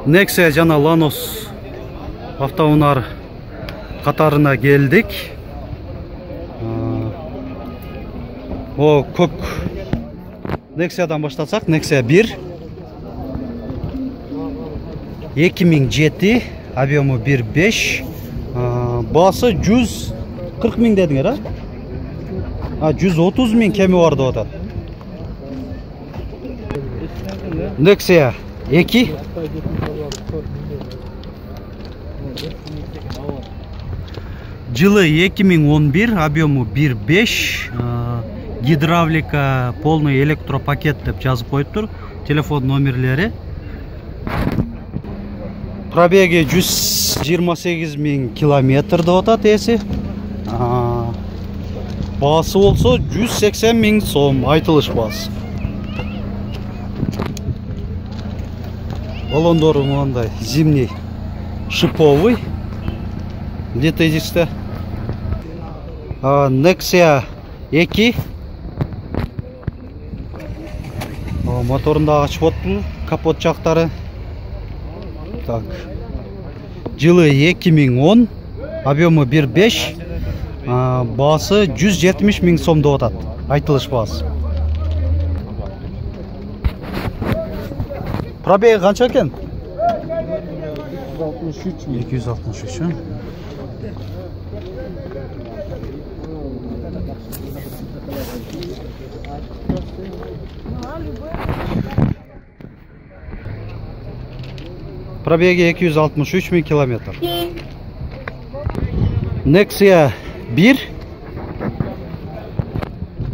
Nexia жана Lanos автоунар катарына келдик. О, көк Nexia'дан баштасак, Nexia 1 2007, объему 1.5, басы 140 миң дедиңер, 130 миң кеми бар деп атат. Nexia 2 жылы 2011, объему 1.5, гидравлика, полный электропакет деп жазып коюптур. Телефон номерлери. Пробеги 128 миң километр деп атат эси. Басы болсо 180 миң сом, айтылыш басы. Балондору мындай зимний, шиповый. Где-то здесь-то. Nexia 2. Моторунда ачып отпу, капот жактары. Так. Жылы 2010, объему 1.5, басы 170 миң сом деп атат. Айтылыш басы. Пробеги канча экен? 263. Пробеги 263 миң километр. Nexia 1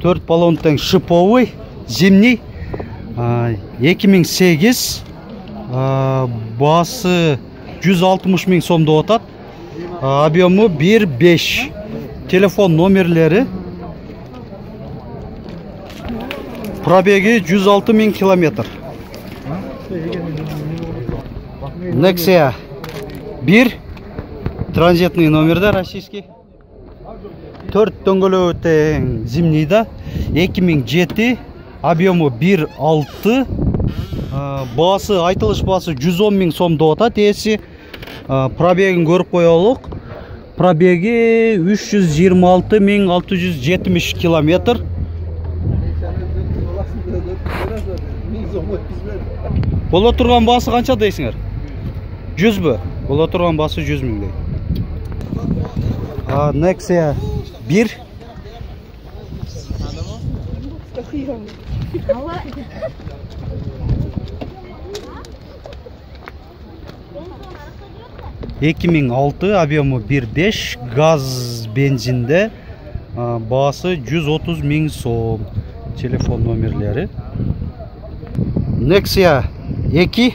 4 баллон тең шиповый, зимний, 2008, басы 160 миң сом деп атат, объему 1.5. Телефон номерлери. Пробеги 106 миң километр. Nexia 1 транзитный номерде, российский. 4 дөңгөлөбү тең зимнийда, 2007, объему 1.6, басы, айтылыш басы 110 миң сом деп атат эси. Пробегин көрүп коелук. Пробеги 326 миң 670 километр. Боло турган басы канча дейсиңер? 100 бі? Боло турган басы 100 миң дей. Nexia 1 2006, объему 1.5, газ бензинде, басы 130 миң сом. Телефон номерлери. Nexia 2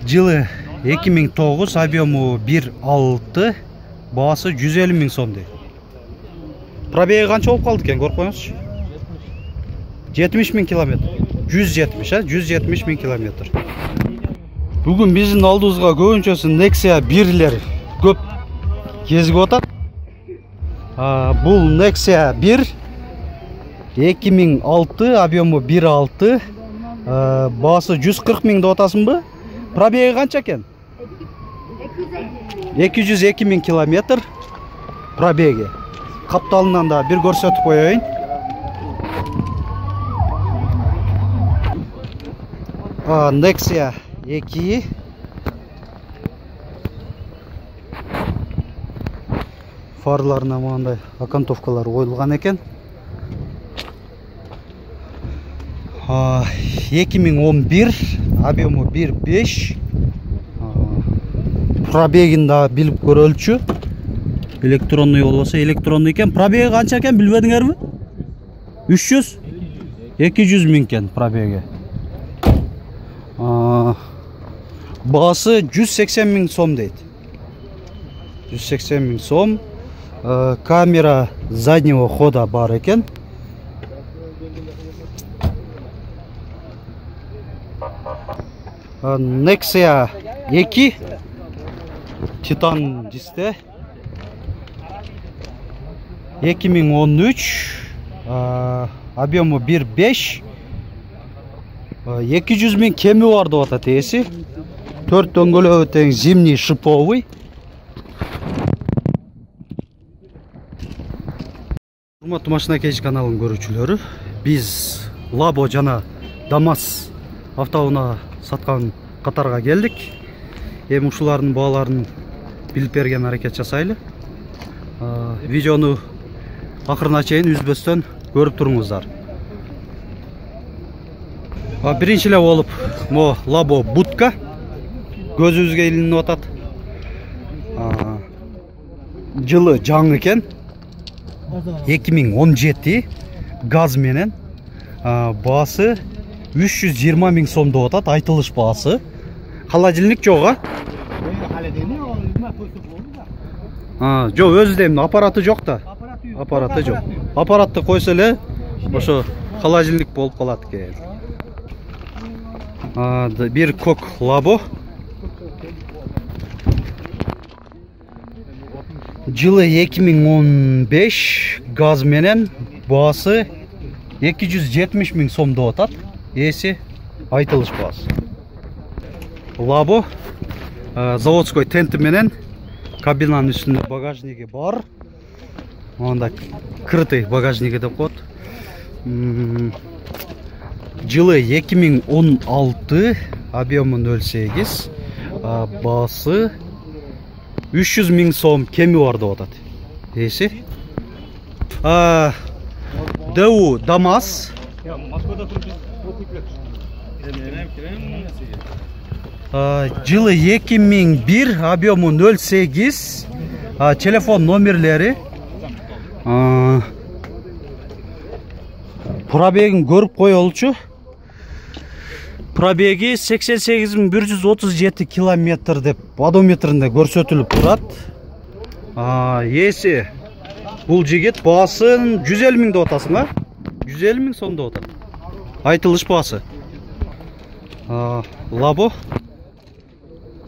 жылы 2009, объему 1.6, басы 150 миң сом дей. Пробеги канча болуп калды экен, көрүп коюңузчу. 70 миң километр. 170, 170 миң километр. Бүгүн биздин алдыбызга көбүнчөсү Nexia 1-лер көп кезип атат. Бул Nexia 1 2006, объему 1.6, басы 140 миң деп атасыңбы? Пробеги канча экен? 202 миң километр пробеги. Капталынан да бир көрсөтүп коеюн. Nexia 2 фарларына мындай окантовкалар коюлган экен. 2011, объему 1.5, пробегин да билип көрөлчү. Электронный болбосо электронный экен. Пробеги канча экен билбедиңерби? 300? 200 миң экен пробеги. Басы 180 миң сом дейт. 180 миң сом. Камера заднего хода бар экен. Nexia 2 Titan дисте 2013, объему 1.5, 200 000 кеми бар деп атат ээси. 4 дөңгөлөбү тең зимний шиповый. Урматтуу Машина Кеч каналынын көрүүчүлөрү, биз Лабо жана ДАМАЗ автоунаа саткан катарга келдик. Эми ушулардын бааларын билип берген аракет жасайлы. Видеону акырына чейин үзбөстөн көрүп туруңуздар. Биринчи эле болуп мо Лабо будка көзүбүзгө илинип атат. Жылы жаңы экен. 2017 газ менен. Баасы 320 000 сом деп атат, айтылыш баасы. Холодильник жок, жок, өзү дейм, аппараты жок да. Аппараты жок. Аппаратты койсо эле ошо холодильник болуп калат экен. Бир кок Лабо. Жылы 2015 газ менен, баасы 270 000 сом деп атат. Ээси айтылыш баасы. Лабо заводской тенти менен, кабинанын үстүндө багажниги бар. Анда крытый багажниги деп коет. Жылы 2016, объему 0,8, баасы 300 000 сом кеми бар деп атат. Ээси. ДУ ДАМАЗ. Жылы 2001, объему 0,8, телефон номерлери. Пробегин көрүп коелучу. Пробеги 88 137 километр деп одометринде көрсөтүлүп турат. Ээси бул жигит баасын 150 000 деп атасың, 150 000 сом деп атат. Айтылыш баасы. Лабо.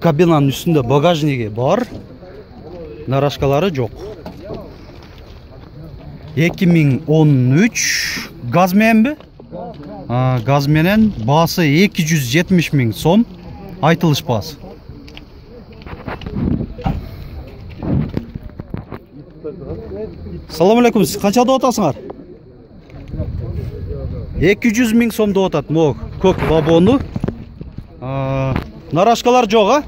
Кабинанын үстүндө багажниги бар. Нарашкалары жок. 2013 газ мененби? Газ менен, баасы 270 000 сом. Айтылыш баасы. Салам алейкум, сиз канча деп атасыңар? 200 000 сом деп атат мо кок Лабону. Нарашкалар жок,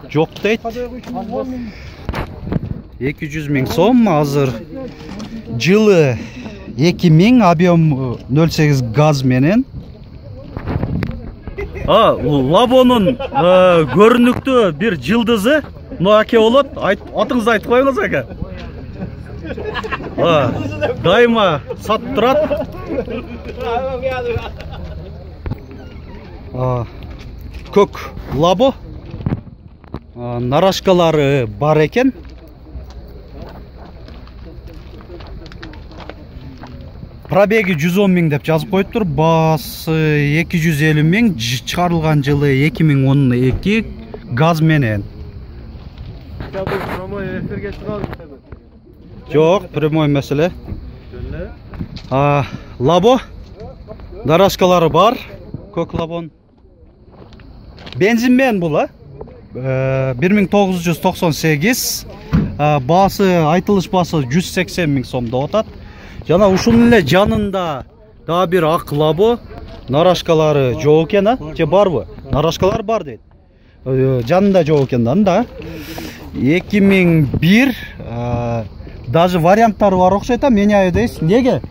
жок дейт. 200 000 сом азыр. Жылы 2000, объем 0,8 газ менен. Лабонун көрүнүктүү бир жылдызы аке болот. Атыңызды айтып коюңуз аке. Дайыма сатып турат. Кок Лабо. Нарашкалары бар экен. Пробеги 110 000 деп жазып коюптур. Баасы 250 000, чыгарылган жылы 2012 газ менен. Жок, прямой маселе. Лабо. Нарашкалары бар. Кок Лабон. Бензин менен бул, 1998. Баасы, айтылыш баасы 180 000 сом деп атат. Жана ушунун эле жанында дагы бир ак Лабо. Нарашкалары жок экен, же барбы? Нарашкалар бар дейт. Жанында жок экен да. 2001, даже варианттары бар окшойт, меняю дейсиз. Неге?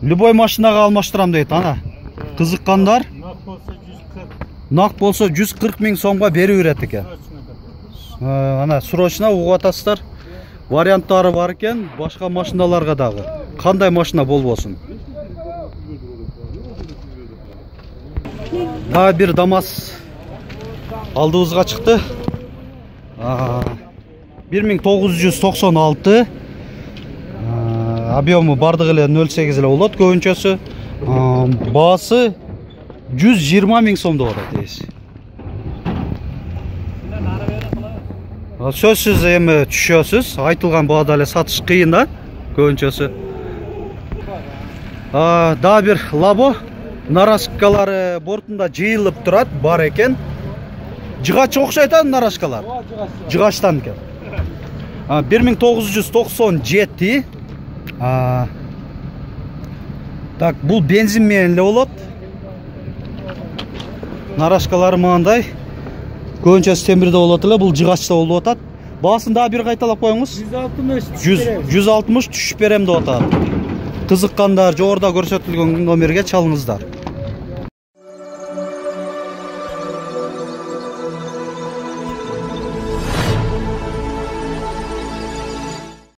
Любой машинага алмаштырам дейт, ана. Кызыккандар нак болсо 140 000 сомго берип берет экен. Ана срочно угуп атасыздар. Варианттары бар экен, башка машиналарга дагы. Кандай машина болбосун. Дагы бир ДАМАЗ алдыбызга чыкты. 1996. Объему бардыгы эле 0,8 эле болот көбүнчөсү. Баасы 120 000 сом деп атат ээси. Сөзсүз эми түшөсүз. Айтылган баада эле сатыш кыйын да көбүнчөсү. Дагы бир Лабо. Нарашкалары бортунда жыйылып турат, бар экен. Жыгач окшойт а нарашкалар. Жыгачтан экен. 1997. Так, бул бензин менен эле болот. Нарашкалары мындай. Көбүнчөсү темирде болот эле, бул жыгачта болуп атат. Баасын дагы бир кайталап коюңуз. 160 түшүп берем деп атат. Кызыккандар жогоруда көрсөтүлгөн номерге чалыңыздар.